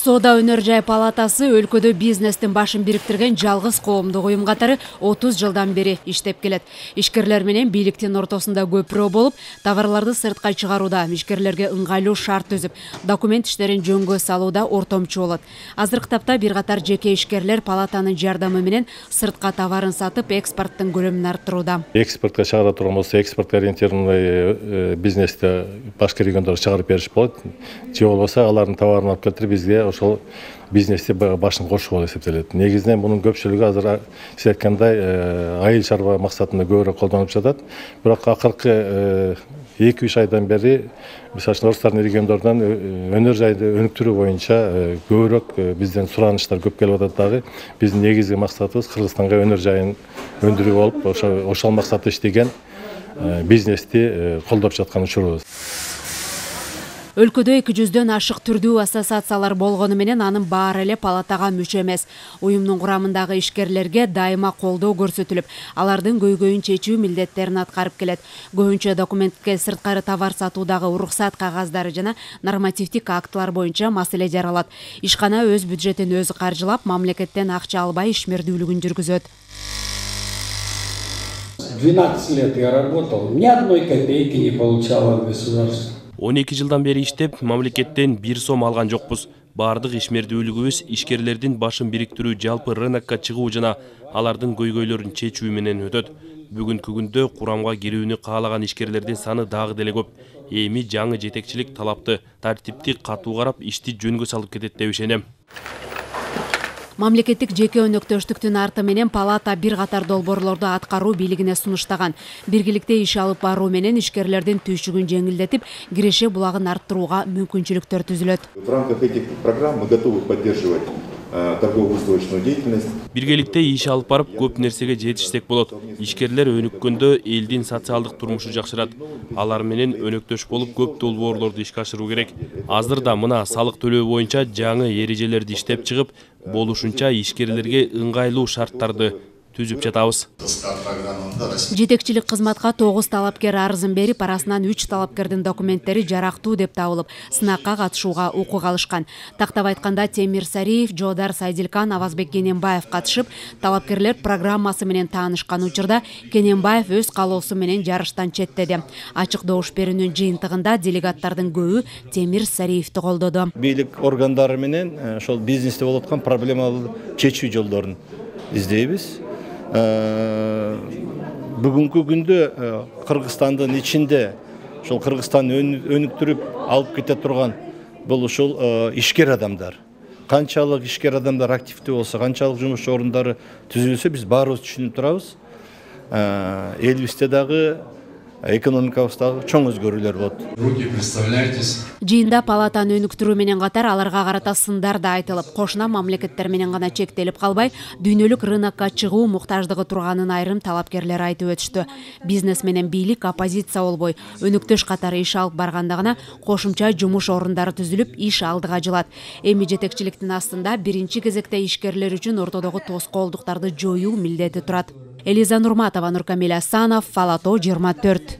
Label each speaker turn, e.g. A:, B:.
A: Соода өнөр жай палатасы өлкөдө бизнестин башын бириктирген жалгыз коомдук уюм катары 30 жылдан бери иштеп келет. Ишкерлер менен бийликтин ортосунда көпүрө болуп, товарларды сыртка чыгарууда ишкерлерге ыңгайлуу шарт түзүп, документ иштерин жөнгө салууда ортомчу болот. Азыркы тапта бир катар жеке ишкерлер палатанын жардамы менен сыртка товарын сатып, экспорттун көлөмүн арттырууда.
B: Экспортко чыгара турган болсо, экспортко ориентированный бизнесте башка региондорго чыгарып бериш болот. Же болбосо алардын товарын алып келтирип бизге ошол бизнесте башын кошуу болуп эсептелет. Негизинен мунун көпчүлүгү азыр сиз айткандай айыл чарба максатында көбүрөөк колдонуп жатат. Бирок акыркы 2-3 айдан бери мисалы үчүн Орустардын региондорунан өнөр жайды өнүктүрүү боюнча көбүрөөк бизден сураныштар көп келип атат дагы. Биздин негизги максатыбыз Кыргызстанга өнөр жайын өндүрүү болуп, ошол максатта иштеген бизнести колдоп жаткан учурубуз.
A: Өлкөдө 200дөн ашык түрдүү ассоциациялар болгону менен анын баары эле палатага мүчө эмес. Уюмдун курамындагы ишкерлерге дайыма колдоо көрсөтүлүп, алардын көйгөйүн чечүү милдеттерин аткарып келет. Көбүнчө документке сырткары товар сатуудагы уруксат кагаздары жана нормативдик актылар боюнча маселе жаралат. Ишкана өз бюджетин өзү каржылап, мамлекеттен акча албай ишмердүүлүгүн жүргүзөт.
C: 12 лет я работал, ни одной копейки не получал от государства.
D: 12 жылдан бери иштеп, мамлекеттен 1 сом алган жокпуз. Бардык ишмердүүлүгүбүз ишкерлердин башын бириктирүү, жалпы рынокко чыгуу жана алардын көйгөйлөрүн чечүү менен өтөт. Бүгүнкү күндө курамга кирүүнү каалаган ишкерлердин саны дагы деле көп. Эми жаңы жетекчилик талапты, тартипти катуу карап, ишти жөнгө салып кетет деп ишенем.
A: Мамлекеттик жеке өнөктөштүктүн арты менен палата бир катар долбоорлорду аткаруу бийлигине сунуштаган. Биргеликте иш алып баруу менен ишкерлердин түйшүгүн жеңилдетип, киреше булагын арттырууга мүмкүнчүлүктөр түзүлөт.
E: В рамках этих программ мы готовы поддерживать торгово-выстроечную деятельность.
D: Биргеликте иш алып барып, көп нерсеге жетишсек болот. Ишкерлер өнүккөндө элдин социалдык турмушу жакшырат. Алар менен өнөктөш болуп, көп долбоорлорду ишке ашыруу керек. Азырда мына салык төлөө боюнча жаңы эрежелерди иштеп чыгып, болушунча ишкерлерге ыңгайлуу шарттарды түзүп жатабыз.
A: Жетекчилик кызматка 9 талапкер арызын берип, арасынан 3 талапкердин документтери жарактуу деп табылып, сынакка катышууга укук алышкан. Тактап айтканда Темир Сариев, Жоодар Сайдилкан, Авазбек Кененбаев катышып, талапкерлер программасы менен таанышкан учурда Кененбаев өз калоосу менен жарыштан четтеди. Ачык добуш берүүнүн жыйынтыгында делегаттардын көбү Темир Сариевди колдоду.
F: Бийлик органдары менен ошол бизнесте болуп аткан проблемаларды чечүү жолдорун издейбиз. Бүгүнкү күндө Кыргызстандын ичинде ошол Кыргызстанды өнүктүрүп алып кете турган бул ушул ишкер адамдар. Канчалык ишкер адамдар активдүү болсо, канчалык жумуш орундары түзүлсө, биз баарыбыз түшүнүп турабыз. Элибизде дагы экономикабыздагы чоң өзгөрүүлөр болот.
C: Руки представляйтесь.
A: Жыйында палатаны өнүктүрүү менен катар аларга карата сындар да айтылып, кошуна мамлекеттер менен гана чектелип калбай, дүйнөлүк рынокко чыгуу муктаждыгы турганын айрым талапкерлер айтып өтүштү. Бизнес менен бийлик оппозиция болбой, өнүктөш катары иш алып барганда гана кошумча жумуш орундары түзүлүп, иш алдыга жылат. Эми жетекчиликтин астында биринчи кезекте ишкерлер үчүн ортодогу тоскоолдуктарды жоюу милдети турат. Элиза Нурматова, Нуркамил Асанов, Фалато 24.